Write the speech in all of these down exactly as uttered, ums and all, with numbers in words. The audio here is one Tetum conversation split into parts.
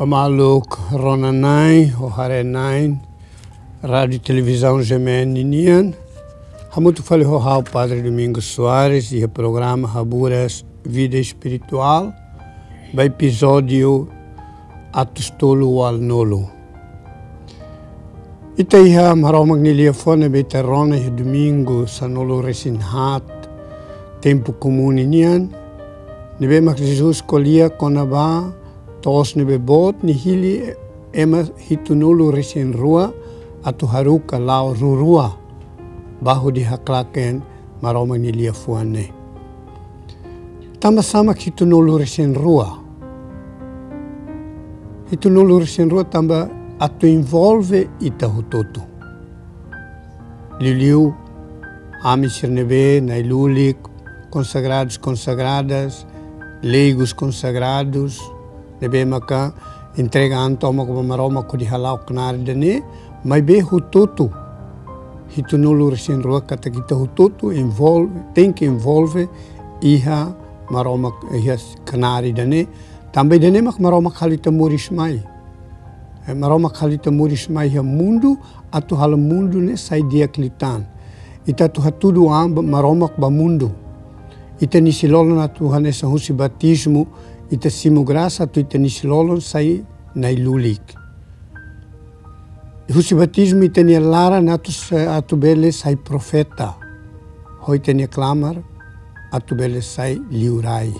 Maluk rona-na'in, ho haree-na'in, Rádiu Televizaun G M N nian. Hamutuk fali ho ha'u Padre Domingos Soares, iha programa Haburas Vida Espirituál, ba epizódiu atus tolu ualunulu. Ita iha Maromak nia liafuan ne'ebé ita rona iha Domingu sanulu-resin-haat Tempu Komún nian, ne'ebé mak Jesus ko'alia kona-ba to'os ne'ebé boot nia hili ema hitunulu-resin-rua atu haruka la'o rua-rua ba hodi haklaken Maromak nia liafuan ne'e. Tanba sá mak hitunulu-resin-rua? Hitunulu-resin-rua tanba atu envolve ita hotu-hotu. Liuliu ami sira ne'ebé na'i-lulik, konsagradus, konsagradas, leigos, konsagradus, ne'ebé maka entrega an tomak ba Maromak hodi hala'o knaar ida-ne'e, maibé hotu-hotu. Hitunulu-resin-rua katak ita hotu-hotu envolve, tenke envolve iha Maromak, iha knaar ida-ne'e. Tanba ida-ne'e mak Maromak halo ita moris mai. Eh, Maromak halo ita moris mai iha mundu, atu halo mundu ne'e sai di'ak liután. Ita atu hatudu an ba Maromak ba mundu. Ita-nia isin-lolon atu hanesan husi batizmu, ita simu grasa atu ita-nia isin-lolon sai na'i-lulik. Husi batizmu ita-nia laran atu sa-, atu bele sai profeta. Ho ita-nia klamar atu bele sai liurai.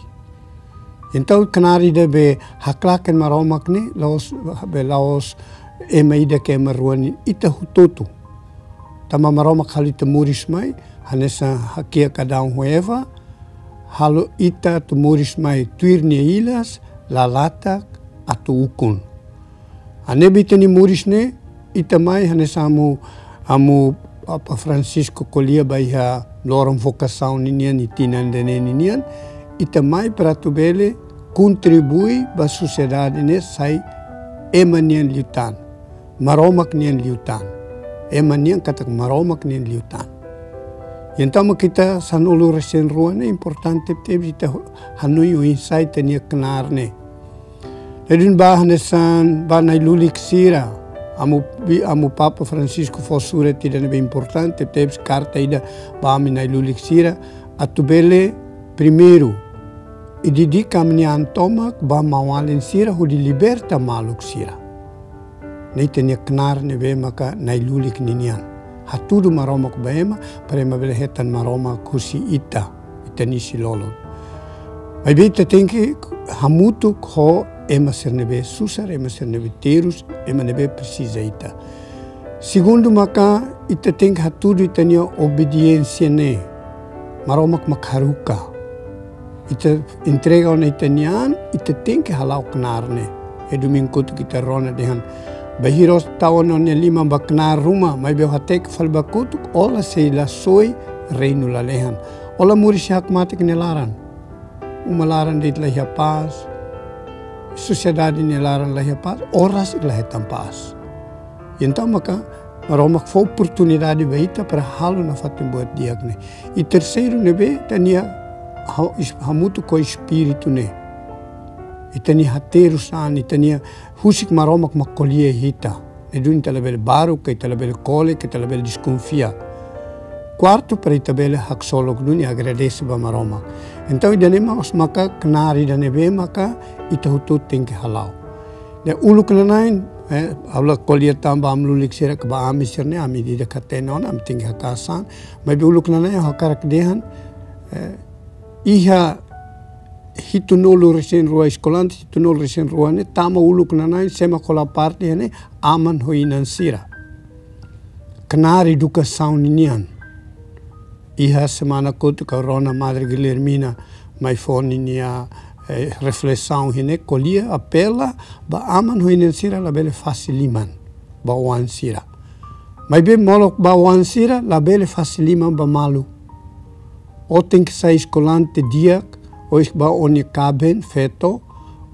Entaun knaar ida be haklaken Maromak ne'e la'ós, be la'ós ema ida ka ema rua nian, ita hotu-hotu. Tanba Maromak halo ita moris mai, hanesan hakiak Adão ho Eva, halo ita atu moris mai tuir nia ilas, lalatak atu ukun. Hanesan be ita-nia moris ne'e, ita mai hanesan amu, amu Papa Francisco ko'alia ba iha loron vokasaun ninian, iha tinan ida-ne'e ninian, ita mai para atu bele kontribui ba sosiedade ne'e sai ema nian liután, Maromak nian liután. Ema nian katak Maromak nian liután. Entaun mak ita sanulu-resin-rua ne'e importante tebes ita hanoin oinsá ita-nia knaar ne'e. Ne'e duni ba hanesan ba na'i-lulik sira. Amu bi-, amu Papa Francisco fó surat ida ne'ebé importante tebes, karta ida ba ami na'i-lulik sira. Atu bele primeiru, ita dedika ami-nia an tomak ba maun-alin sira hodi liberta maluk sira. Ne'e ita-nia knaar ne'ebé maka na'i-lulik ninian. Hatudu Maromak ba ema, para ema bele hetan Maromak husi ita, ita-nia isin-lolon. Maibé ita tenke hamutuk ho ema sira ne'ebé susar, ema sira ne'ebé terus, ema ne'ebé presiza ita. Segundu maka ita tenke hatudu ita-nia obediénsia ne'e. Maromak mak haruka. Ita entrega ona ita-nia an, ita tenke hala'o knaar ne'e. Iha domingu kotuk ita rona dehan: Bainhira ó tau ona ó-nia liman ba knaar ruma, maibé ó hateke fali ba kotuk, ó la sei la soe reinu lalehan. Ó la moris iha hakmatek nia laran. Uma laran de'it la iha pás. Sosiedade nia laran la iha pás. Ó rasik la hetan pás. Entaun maka Maromak fó oportunidade ba ita para halo nafatin buat di'ak ne'e. I terseiru ne'ebé ita-nia ha-, is-, hamutuk ho espíritu ne'e. Ita-nia haterus an, ita-nia husik Maromak mak ko'alia ita. Ne'e duni ita labele baruk, ita labele kole, ita labele deskonfia. Kuartu, para ita bele haksolok duni agradese ba Maromak. Entaun ida-ne'e mós maka knaar ida ne'ebé maka ita hotu tenke hala'o. Ne'e uluk nanain, eh, ha'u la ko'alia tan ba ami lulik sira ka ba ami sira ne'e, ami ida-idak hatene ona, ami tenke haka'as an. Maibé uluk nanain ha'u hakarak dehan, eh, iha hitunulu-resin-rua eskolante, hitunulu-resin-rua ne'e, tama uluk nanain, sé mak hola parte iha ne'e, aman ho inan sira. Knaar edukasaun ninian. Iha semana kotuk ha'u rona Madre Guilhermina mai fó ninia, eh, reflesaun iha ne'e, ko'alia, apela ba aman ho inan sira labele fase liman ba oan sira. Maibé molok ba oan sira labele fase liman ba malu. Ó tenke sai eskolante di'ak, ó es-, ba ó-nia kaben feto,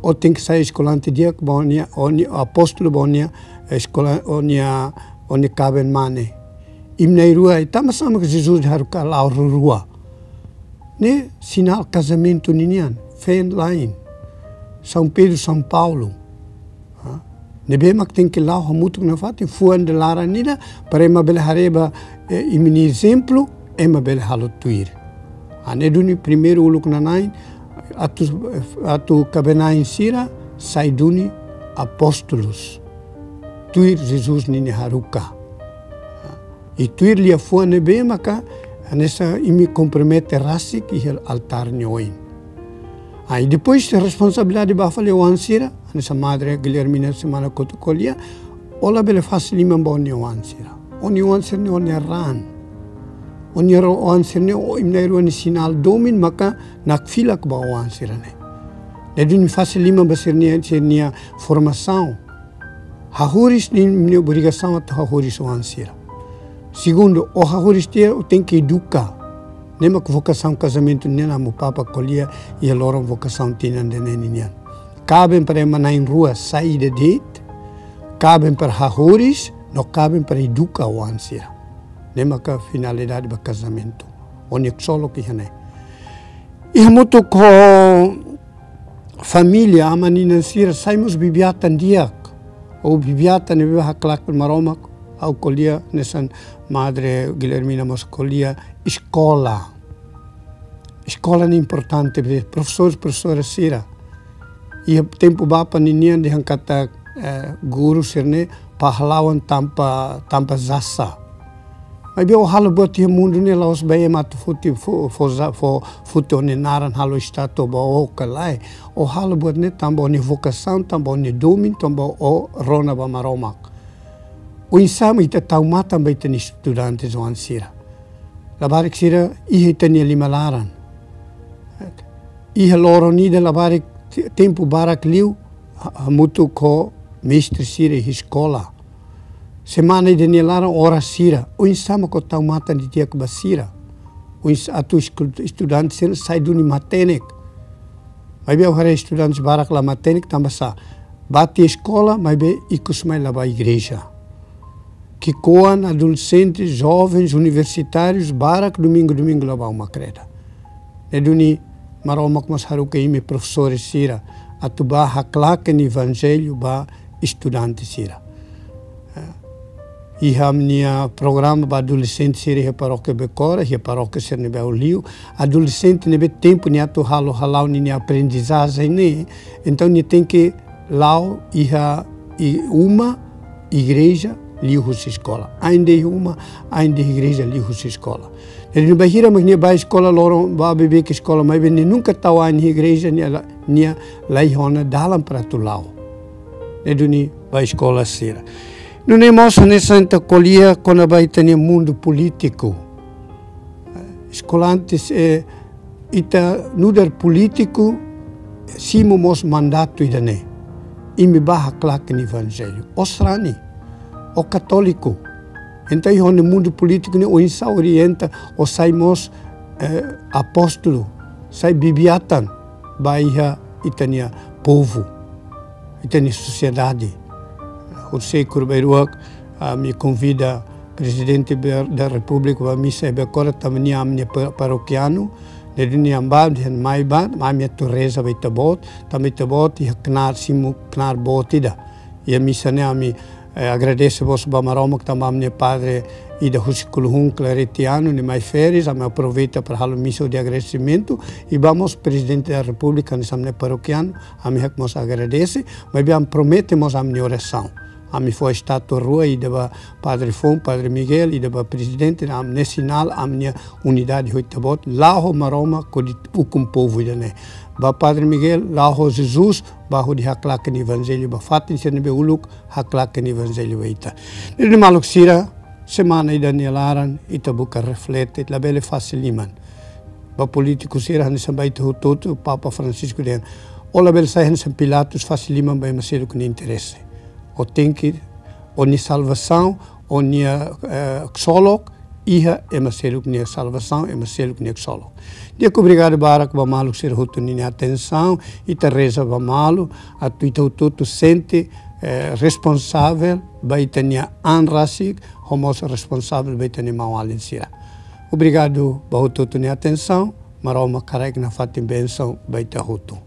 ó tenke sai eskolante di'ak ba ó-nia, ó-nia apóstolu ba ó-nia eskola, ó-nia, ó-nia kaben mane. Imi na'in-rua, i tanba sá mak Jesus haruka la'o rua-rua? Ne'e sinál kazamentu ninian, feen-la'en. São Pedro, São Paulo. Ne'ebé mak tenke la'o hamutuk nafatin, fuan ida laran ida, para ema bele haree ba, eh, imi-nia ezemplu, ema bele halo tuir. Ah, ne'e duni primeiru uluk-na'in, atu, atu kaben-na'in sira sai duni apóstolus. Tuir Jesus ninia haruka. I tuir liafuan ne'ebé maka hanesan imi kompromete rasik iha altár nia oin. Ah, i depois responsabilidade ba fali oan sira, hanesan Madre Guilhermina semana kotuk ko'alia, ó labele fase liman ba ó-nia oan sira. Ó-nia oan sira-ne'e ó-nia raan. Ó-nia ro-, oan sira-ne'e ó, imi na'in-rua nia sinál domin maka nakfilak ba oan sira-ne'e. Ne'e duni fase liman ba sira-nia, sira-nia formasaun. Hahú-riis ne'e imi-nia obrigasaun atu hahú-riis oan sira. Segundu, ó hahú-riis tiha ó tenke eduka. Ne'e mak vokasaun kazamentu nian, Amu Papa ko'alia iha loron vokasaun tinan ida-ne'e ninian. Kaben para ema na'in-rua sai ida de'it, kaben para hahú-riis, no kaben para eduka oan sira. Ne'e maka finalidade ba kazamentu. Ó-nia ksolok iha ne'e. I hamutuk ho família, aman-inan sira sai mós bibi-atan di'ak. Ou bibi-atan ne'ebé haklaken Maromak, ha'u ko'alia hanesan Madre Guilhermina mós ko'alia, eskola. Eskola ne'e importante, be, profesór, profesora sira. Iha tempu Papa ninian dehan katak, eh, guru sira-ne'e pahlawan tanpa, tanpa jasa. Maibé ó halo buat iha mundu ne'e la'ós ba ema atu foti, fo-, fo-, za-, fo-, foti ó-nia naran halo estátua ba ó ka lae. Ó halo buat ne'e tanba ó-nia vokasaun, tanba ó-nia domin, tanba ó rona ba Maromak. Oinsá mak ita tau matan ba ita-nia estudante oan sira. Labarik sira iha ita-nia lima laran. Iha loron ida labarik te-, tempu barak liu ha-, hamutuk ho mestre sira iha eskola. Semana ida nia laran oras sira. Oinsá mak ó tau matan didi'ak ba sira. Oinsá atu esku-, estudante sira sai duni matenek. Maibé ha'u haree estudante barak la matenek tanba sá? Bá tiha eskola, maibé ikus mai la bá igreja. Ki'ikoan, adolexente, jovens, universitárius, barak domingu-domingu la bá uma kreda. Ne'e duni Maromak mós haruka imi profesór sira atu bá haklaken evanjellu ba estudante sira. Eh, iha ami-nia programa ba adolexente sira iha parókia Becora, iha parókia sira ne'ebé ha'u liu. Adolexente ne'ebé tempu nia atu halo hala'o ninia aprendizajen ne'e. Entaun nia tenke la'o iha i-, uma, igreja, liuhusi eskola. Ain de'it iha uma, ain de'it iha igreja, liuhusi eskola. Ne'e duni bainhira mak nia bá eskola loron, bá beibeik eskola, maibé nia nunka tau ain iha igreja, nia la, nia la iha ona dalan para atu la'o. Ne'e duni ba eskola sira. Nune'e mós hanesan ita ko'alia kona-ba ita-nia mundu polítiku. Eskolantes, eh, ita nu'udar polítiku, simu mós mandatu ida-ne'e. Imi bá haklaken evanjellu. Ó sarani, ó katóliku. Entaun iha ó-nia mundu polítiku ne'e oinsá orienta, ó sai mós, eh, apóstolu, sai bibi-atan ba iha ita-nia povu, ita-nia sosiedade. Horisehik kuaruk ba ida-ne'e, ami konvida Prezidente Be-, da Repúblika ba misa iha Becora, tanba nia ami-nia pa-, parokianu, ne'e duni nia bá, dehan mai bá, ami atu reza ba ita-boot, tanba ita-boot iha knaar, simu knaar boot ida. Iha misa ne'e ami, eh, agradese mós ba Maromak tanba ami-nia padre ida husi Kuluhun, Claretiano, nia mai férias, ami aproveita para halo misa de agradesimentu, i ba mós Prezidente da Repúblika, hanesan ami-nia parokianu, ami hakmatek mós agradese, maibé ami promete mós ami-nia orasaun. Ami fó estátua rua, ida ba padre foun, Padre Miguel, ida ba prezidente, ami-nia sinál, ami-nia unidade ho ita-boot, la'o ho Maromak hodi ukun povu ida-ne'e. Ba Padre Miguel, la'o ho Jesus, bá hodi haklaken evanjellu ba fatin sira ne'ebé uluk haklaken evanjellu ba ita. Ne'e duni maluk sira, semana ida nia laran, ita buka reflete, labele fase liman. Ba polítiku sira hanesan ba ita hotu-hotu, Papa Francisco dehan, ó labele sai hanesan Pilatus fase liman ba ema seluk nia interese. Ó tenke, ó-nia salvasaun, ó-nia, eh, ksolok, iha ema seluk nia salvasaun, ema seluk nia ksolok. Di'ak, obrigadu barak ba maluk sira hotu ninia atensaun, ita reza ba malu, atu ita hotu-hotu sente, eh, responsavel ba ita-nia an rasik, ho mós responsavel ba ita-nia maun-alin sira. Obrigadu ba hotu-hotu nia atensaun, Maromak haraik nafatin bensaun ba ita hotu.